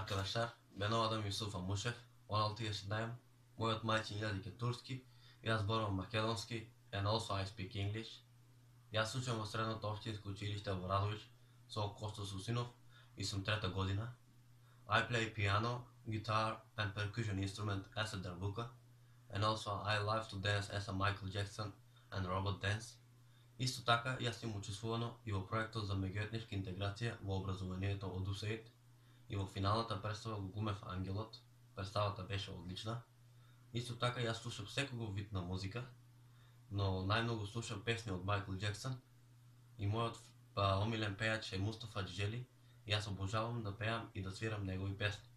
Arkadaşlar, ben o adam Yusuf Amuşev, 16 yaşındayım. Мојот мајчин јазик е турски, јас зборувам македонски, and also I speak English. Јас учам во средното општинско училиште во Радовиш со Косто Сусинов и сум трета година. I play piano, guitar and percussion instrument as a darbuka, and also I love to dance as a Michael Jackson and robot dance. Исто така, јас сум учествувано и во проектот за меѓуетничка интеграција во образованието од УСАИД и во финалната представа го глумев Ангелот. Представата беше одлична. Исто така јас слушам секогов вид на музика, но најмногу слушам песни од Майкл Джексон и мојот омилен пејач е Мустафа Џиџели. Јас обожавам да пеам и да свирам негови песни.